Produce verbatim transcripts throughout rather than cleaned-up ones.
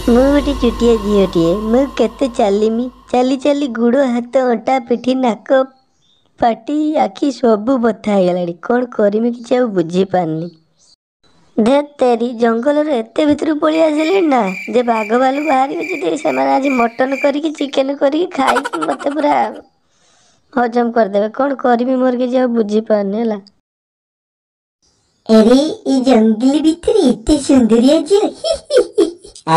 ମୁଁ ଗୋଟେ ଛୋଟିଆ ଝିଅଟିଏ, ମୁଁ କେତେ ଚାଲିମି? ଚାଲି ଚାଲି ଗୋଡ଼, ହାତ, ଅଣ୍ଟା, ପିଠି, ନାକ, ପାଟି, ଆଖି ସବୁ ବଥା ହେଇଗଲାଣି। କ'ଣ କରିମି କିଛି ଆଉ ବୁଝିପାରୁନି। ଧେତ୍ ତେରି, ଜଙ୍ଗଲର ଏତେ ଭିତରକୁ ପଳେଇ ଆସିଲିଣି ନା ଯେ ବାଘ ଭାଲୁ ବାହାରିବେ ଯଦି ସେମାନେ ଆଜି ମଟନ୍ କରିକି ଚିକେନ୍ କରିକି ଖାଇକି ମୋତେ ପୁରା ହଜମ କରିଦେବେ। କ'ଣ କରିବି ମୋର କିଛି ଆଉ ବୁଝିପାରୁନି ହେଲା। ଆରେ, ଏ ଜଙ୍ଗଲ ଭିତରେ ଏତେ ସୁନ୍ଦରିଆ ଝିଅ, ହି ହି ହି।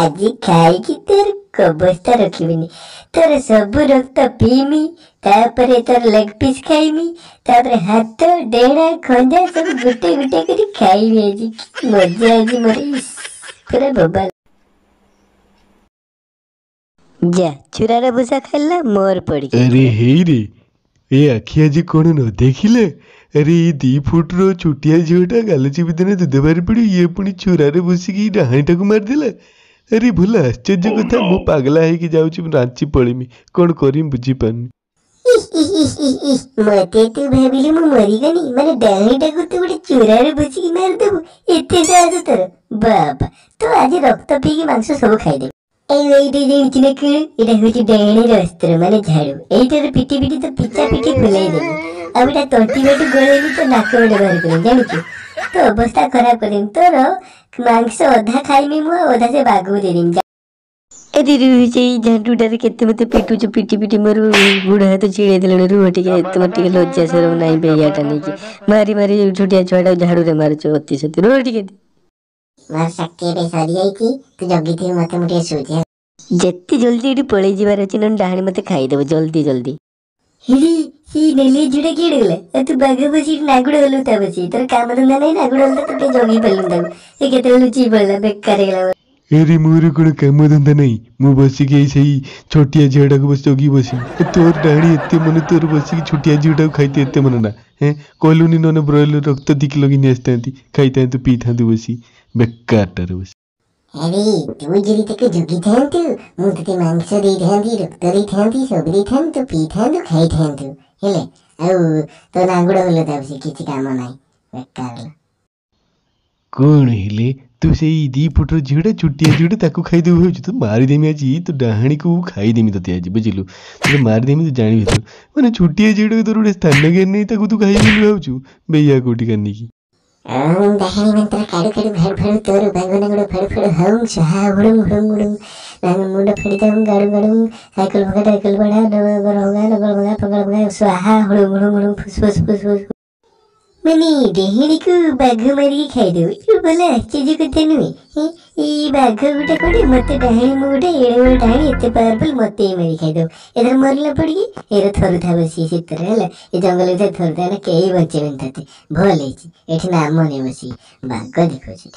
ଆଜି ଖାଇକି ତୋର ଅବସ୍ଥା ରଖିବିନି। ତୋର ସବୁ ରକ୍ତ ପିଇମି, ତାପରେ ତୋର ଲେଗ ପିସ୍ ଖାଇମି, ତାପରେ ହାତ, ଡେଣା, ଖଞ୍ଜା ସବୁ ଗୋଟେ ଗୋଟେ କରି ଖାଇବି। ଆଜି କି ମଜା ଆଜି ମୋର, ଇସ୍, ପୁରା ବୋବାଲ। ଯା, ଚୁରାର ଭୁସା ଖାଇଲା ମୋର ପଡ଼ିକି। ଆରେ ହେଇରେ, ଏ ଆଖି ଆଜି କ'ଣ ନ ଦେଖିଲେ? ଆରେ, ଏଇ ଦି ଫୁଟର ଛୋଟିଆ ଝିଅଟା ଗାଲ ଚିପିଦେଲେ ଦୁଧ ବାହାରି ପଡ଼ିବ, ଇଏ ପୁଣି ଛୁରାରେ ଭୁସିକି ଡାହାଣୀଟାକୁ ମାରିଦେଲା। ଆରେ, ଭଲ ଆଶ୍ଚର୍ଯ୍ୟ କଥା। ମୁଁ ପାଗଲା ହେଇକି ଯାଉଛି, ମୁଁ ରାଞ୍ଚି ପଳେଇମି। କ'ଣ କରିମି ବୁଝିପାରୁନି। ମତେ ତୁ ଭାବିଲୁ ମୁଁ ମରିଗନି? ମାନେ ଡାହାଣୀଟାକୁ ତୁ ଗୋଟେ ଚୁରାରେ ଭୁସିକି ମାରିଦେବୁ, ଏତେ ସାହସ ତୋର? ବାବା, ତୁ ଆଜି ରକ୍ତ ପିଇକି ମାଂସ ସବୁ ଖାଇଦେବୁ। ଏଇ ଏଇଟା ଜାଣିଛୁ ନା କଣ? ଏଇଟା ହଉଛି ଡାହାଣୀର ଅସ୍ତ୍ର, ମାନେ ଝାଡୁ। ଏଇଟାରେ ପିଟି ପିଟି ତ ପିଚା ପିଠି ଫୁଲେଇ ଦେବି, ଆଉ ଏଇଟା ତଣ୍ଟି ବାଟୁ ଗଳେଇବି ତ ନାକ ବାଟେ ବାହାର କରିବି। ଜାଣିଛୁ, ତୋ ଅବସ୍ଥା ଖରାପ କରିଦେବି। ତୋର ମାଂସ ଅଧା ଖାଇମି ମୁଁ ଆଉ ଅଧା ସେ ବାଘକୁ ଦେଇଦେବି। ଏଠି ସେଇ ଝାଡୁଟାରେ କେତେ ମତେ ପିଟୁଛୁ? ପିଟି ପିଟି ମୋର ଗୋଡ଼ ହାତ ଛିଡ଼େଇ ଦେଲେଣି। ରୁହ ଟିକେ, ତୁମର ଟିକେ ଲଜ୍ଜା ସରମ ନାହିଁ ବେହିଆଟା ନେଇକି ମାରି ମାରି ଛୋଟିଆ ଛୁଆଟା ଝାଡୁରେ ମାରୁଛୁ ଅତି ସତି। ରୁହ ଟିକେ। ମୋର ଶକ୍ତି ଏବେ ସରିଯାଇଛି, ତୁ ଜଗିଥିବୁ ମତେ, ମୁଁ ଟିକେ ଶୋଉଛି। ଯେତେ ଜଲ୍ଦି ଏଠି ପଳେଇ ଯିବାର ଅଛି, ନହେଲେ ଡାହାଣୀ ମତେ ଖାଇଦେବ। ଜଲ୍ଦି ଜଲ୍ଦି। ହିରି, ସେଇ ନେଲି ଝିଅଟା କିଏ ଗଲା? ଆଉ ତୁ ବାଘ ବସି ନାଗୁଡ଼ ହଲୁ ତା ବସି, ତୋର କାମ ଧନ୍ଦା ନାହିଁ, ନାଗୁଡ଼ ହଲୁ। ତୁ ଟିକେ ଜଗି ପାରିଲୁନି ତାକୁ, ସେ କେତେବେଳେ ଲୁଚିକି ପଳେଇଲା, ବେକାର ହେଇଗଲା। ଆରେ, ମୋର କ'ଣ କାମ ଧନ୍ଦା ନାହିଁ? ମୁଁ ବସିକି ଏଇ ସେଇ ଛୋଟିଆ ଝିଅଟାକୁ ବସି ଜଗି ବସିବି? ଏ ତୋର ଡାହାଣୀ ଏତେ ମନେ, ତୋର ବସିକି ଛୋଟିଆ ଝିଅଟାକୁ ଖାଇତେ ଏତେ ମନେ ନା? ହେଁ, କହିଲୁନି, ନହେଲେ ବ୍ରଏଲର ରକ୍ତ ଦି କିଲୋ ଘିନି ଆସିଥାନ୍ତି, ଖାଇଥାନ୍ତୁ ପିଇଥାନ୍ତୁ ବସି ବେକାରଟାରେ ବସି। ଆରେ, ତୁ ଯଦି ତାକୁ ଜଗିଥାନ୍ତୁ, ମୁଁ ତୋତେ ମାଂସ ଦେଇଥାନ୍ତି, ରକ୍ତ ଦେଇଥାନ୍ତି, ସବୁ ଦେଇଥାନ୍ତି, ତୁ ପିଇଥାନ୍ତୁ, ଖାଇଥାନ୍ତୁ। ହେଲେ ଆଉ ତୋ ନାଙ୍ଗୁଡ଼ ହଲୁତା ବସି, କିଛି କାମ ନାହିଁ, ବେକାର। କ'ଣ ହେଲେ ତୁ ସେଇ ଦି ଫୁଟର ଝିଅଟା, ଛୋଟିଆ ଝିଅଟା, ତାକୁ ଖାଇଦେବୁ ଭାବୁଛୁ? ତୁ ମାରିଦେମି ଆଜି, ତୁ ଡାହାଣୀକୁ ଖାଇଦେମି ତୋତେ ଆଜି, ବୁଝିଲୁ? ତୋତେ ମାରିଦେମି, ତୁ ଜାଣିବି ତୁ। ମାନେ ଛୋଟିଆ ଝିଅଟାକୁ, ତୋର ଗୋଟେ ସ୍ଥାନ ଜ୍ଞାନ ନାହିଁ, ତାକୁ ତୁ ଖାଇବୁ ବୋଲି ଭାବୁଛୁ ବେହିଆ କୋଉଠିକା ନେଇକି। ଓଁ ଡାହାଣୀ ମନ୍ତ୍ର କାଡୁ କାଡୁ ଫାଡୁ ଫାଡୁ, ତୋର ବାଘ ନାଙ୍ଗୁଡ଼ ଫାଡୁ ଫାଡୁ, ହଉଁ ସହା ହୁଡୁଂ ହୁଡୁଂ ହୁଡୁଂ, ମୁଣ୍ଡ ଫାଡ଼ି ଦଉଁ ଗାଡୁ ଗାଡୁଂ, ସାଇକେଲ ଭଗା ସାଇକେଲ ବଢା, ରଙ୍ଗା ନଗଳ ଭଗା ଫଗଳ ଭଗା, ସ୍ୱାହା ହୁଡୁଂ ହୁଡୁଂ ହୁଡୁଂ, ଫୁସ୍ ଫୁସ୍ ଫୁସ୍ ଫୁସ୍। ମାନେ ଡେହିଣୀକୁ ବାଘ ମାରିକି ଖାଇଦେବୁ, ଏ ଭଲ ଆଶ୍ଚର୍ଯ୍ୟ କଥା ନୁହେଁ? ଏଇ ବାଘ ଗୋଟେ କୋଉଠି, ମତେ ଡାହାଣୀ, ମୁଁ ଗୋଟେ ଏଡ଼େ ବଡ଼ ଡାହାଣୀ, ଏତେ ପାୱାରଫୁଲ, ମତେ ହିଁ ମାରି ଖାଇଦେବୁ। ଏଥର ମରିଲା ପଡ଼ିକି ଏର ଥରୁଥା ବସି ଶୀତରେ ହେଲା, ଏ ଜଙ୍ଗଲ ଭିତରେ ଥରୁଥା ନା, କେହି ବଞ୍ଚେଇବେନି ତତେ। ଭଲ ହେଇଛି, ଏଠି ନାମ ନେ ବସିକି ବାଘ ଦେଖାଉଛି।